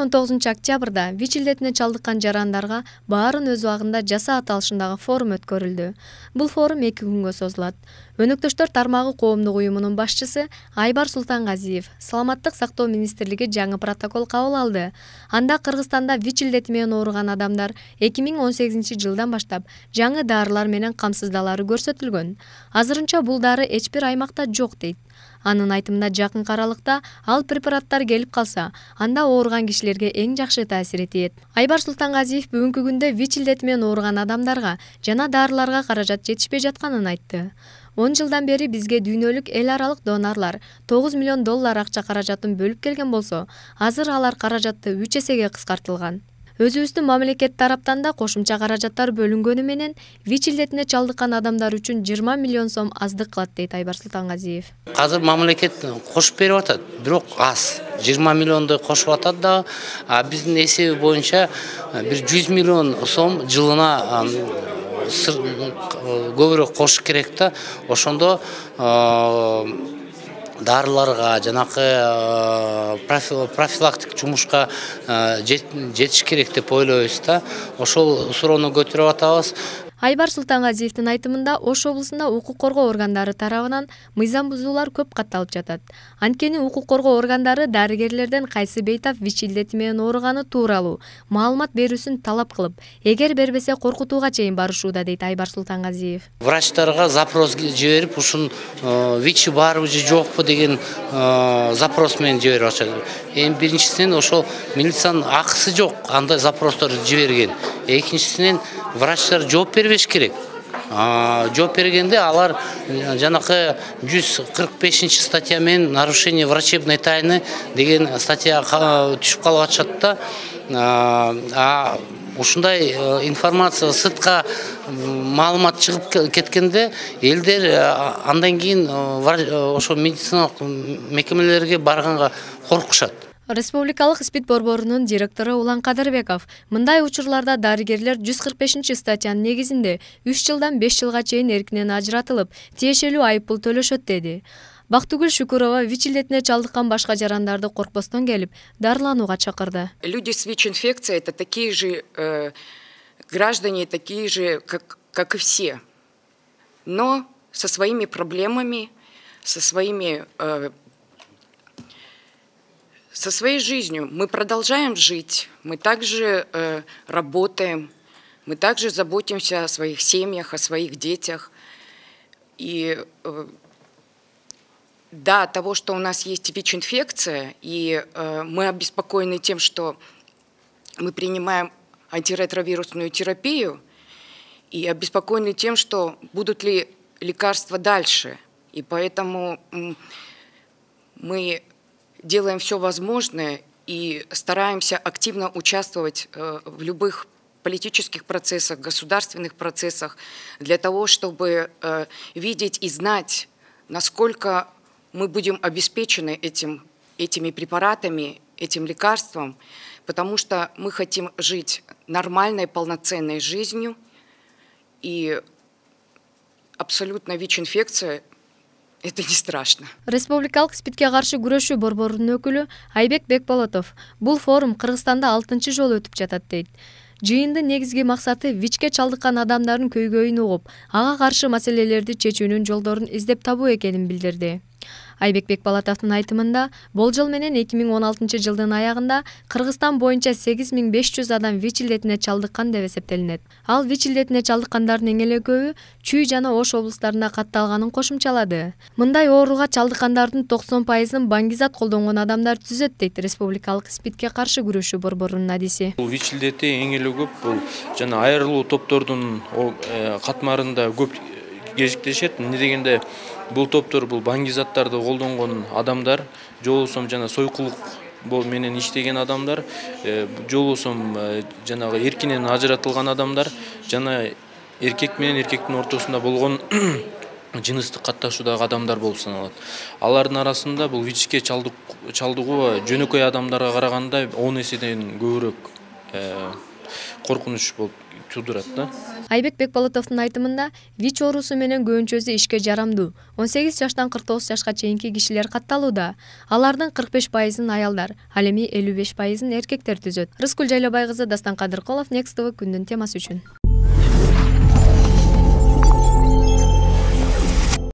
19-октябрда ВИЧ илдетине чалдыккан жарандарга баарын өз убагында жаса аталышындагы форум өткөрүлдү. Бул форум 2 күнгө созулат. Өнөктөштөр тармагы коомдук уюмунун башчысы Айбар Султангазиев Саламаттык сактоо министрлиги жаңы протокол кабыл алды. Анда Кыргызстанда ВИЧ илдети менен ооруган адамдар 2018-жылдан баштап жаңы дарылар менен камсыздалары көрсөтүлгөн. Азырынча бул дары эч бир аймакта жок дейт. Анын айтымында жакынкы аралыкта ал препараттар келип калса, анда ооруган кишилерге эң жакшы таасир этет. Айбар Султангазиев бүгүнкү күндө ВИЧ илдети менен ооруган адамдарга жана дарыларга каражат жетишпей жатканын айтты. 10 жылдан бери бизге дүйнөлүк эл аралык донорлар $9 миллион акча каражатын бөлүп келген болсо, азыр алар каражатты 3 эсеге кыскартылган. Өзүбүздүн мамлекет тараптан да кошумча каражаттар бөлүнгөнү менен ВИЧ илдетине чалдыккан адамдар үчүн 20 миллион сом аздык кылат дейт Айбар Султангазиев. Азыр мамлекет кошуп берип атат, бирок аз. 20 миллионду кошуп атат да, биздин эсеби боюнча бир 100 миллион сом жылына көбүрөөк кошуш керек да. Ошондо дарыларга, жанакы профилактик жумушка жетиш керек деп ойлойбуз да. Ошол суроону көтөрүп атабыз. Айбар Султангазиевдин айтымында Ош облусунда укук коргоо органдары тарабынан мыйзам бузуулар көп катталып жатат. Анткени укук коргоо органдары дарыгерлерден кайсы бейтап ВИЧ илдети менен ооруганы тууралуу маалымат берүүсүн талап кылып, эгер бербесе коркутууга чейин барышууда дейт Айбар Султангазиев. Врачтарга запрос жиберип, ушун ВИЧ барбы же жокпу деген запрос менен жиберип атышат. Эми биринчисинен ошол милициянын акысы жок, андай запростор жиберген. Экинчисинен врачтар жооп бербеш керек. Жооп бергенде алар жанакы 145 статья менен нарушение врачебной тайны деген статья түшүп калып атышат да. Ушундай информация сыртка маалымат чыгып кеткенде элдер андан кийин ошо медициналык мекемелерге барганга коркушат. Республикалык СПИД борборунун директору Улан Кадырбеков мындай учурларда дарыгерлер 145 статьянын негизинде 3 жылдан 5 жылга чейин эркинен ажыратылып, тиешелүү айыппул төлөшөт деди. Бактыгүл Шүкүрова ВИЧ илдетине чалдыккан башка жарандарды коркпостон келип, дарыланууга чакырды. Люди с ВИЧ-инфекцией это такие же граждане, такие же, как и все, но со своими проблемами, со своей жизнью. Мы продолжаем жить, мы также работаем, мы также заботимся о своих семьях, о своих детях. И да, от того, что у нас есть ВИЧ-инфекция, и мы обеспокоены тем, что мы принимаем антиретровирусную терапию, и обеспокоены тем, что будут ли лекарства дальше. И поэтому мы делаем все возможное и стараемся активно участвовать в любых политических процессах, государственных процессах, для того, чтобы видеть и знать, насколько мы будем обеспечены этими препаратами, этим лекарством, потому что мы хотим жить нормальной, полноценной жизнью, и абсолютно ВИЧ-инфекция — это не страшно. Республикалык СПИДке каршы күрөшүү борборунун өкүлү Айбек Бекболотов бул форум Кыргызстанда 6-чы жолу өтүп жатат дейт. Жыйындын негизги максаты ВИЧке чалдыккан адамдардын көйгөйүн угуп, ага каршы маселелерди чечүүнүн жолдорун издеп табуу экенин билдирди. Айбек Бекболотовдун айтымында, болжол менен 2016-жылдын аягында Кыргызстан боюнча 8500 адам ВИЧ илдетине чалдыккан деп эсептелинет. Ал ВИЧ илдетине чалдыккандардын эң эле көбү Чүй жана Ош облустарында катталганын кошумчалады. Мындай ооруга чалдыккандардын 90%-ын баңгизат колдонгон адамдар түзөт дейт Республикалык СПИДке каршы күрөшүү борборунун адиси. Бул ВИЧ илдети эң эле көп бул жана айрылуу топтордун катмарында көп кезиктешет. Эмне дегенде бул топтор бул баңгизаттарды колдонгон адамдар, же болбосо жана сойкулук менен иштеген адамдар, же болбосо жанагы эркинен ажыратылган адамдар жана эркек менен эркектин ортосунда болгон жыныстык катташуудагы адамдар болуп саналат. Алардын арасында бул ВИЧке чалдыгуу жөнөкөй адамдарга караганда 10 эседен көбүрөөк коркунуч болуп туудурат да. Айбек Бекболотовдун айтымында, ВИЧ оорусу менен көбүнчөсү ишке жарамдуу 18 жаштан 49 жашка чейинки кишилер катталууда. Алардын 45%-ын аялдар, ал эми 55%-ын эркектер түзөт. Рыскүл Жайлабай кызы, Дастан Кадыркулов, Next TV күндүн темасы үчүн.